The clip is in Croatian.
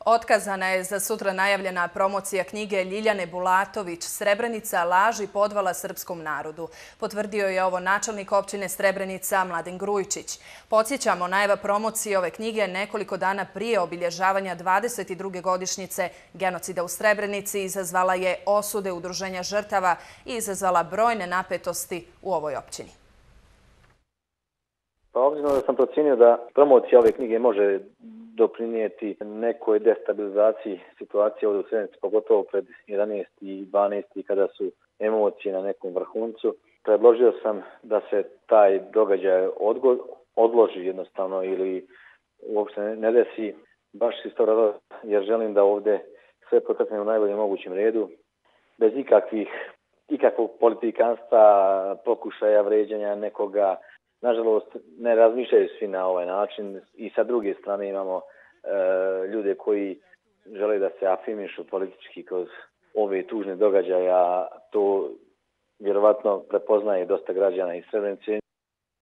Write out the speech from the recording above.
Otkazana je za sutra najavljena promocija knjige Ljiljane Bulatović "Srebrenica, laž i podvala srpskom narodu". Potvrdio je ovo načelnik općine Srebrenica Mladen Grujičić. Podsjećamo, najava promocije ove knjige nekoliko dana prije obilježavanja 22. godišnjice genocida u Srebrenici izazvala je osude udruženja žrtava i izazvala brojne napetosti u ovoj općini. Pa obzirom da sam procijenio da promocija ove knjige može doprinijeti nekoj destabilizaciji situacije ovdje u Srebrenici, pogotovo pred 11. i 12. kada su emocije na nekom vrhuncu, predložio sam da se taj događaj odloži jednostavno ili uopšte ne desi, baš iz tog razloga jer želim da ovdje sve protekne u najboljem mogućem redu, bez ikakvog politikanstva, pokušaja vređanja nekoga. Nažalost, ne razmišljaju svi na ovaj način i sa druge strane imamo ljude koji žele da se afirmišu politički kroz ove tužne događaje, a to vjerovatno prepoznaje dosta građana iz Srebrenice.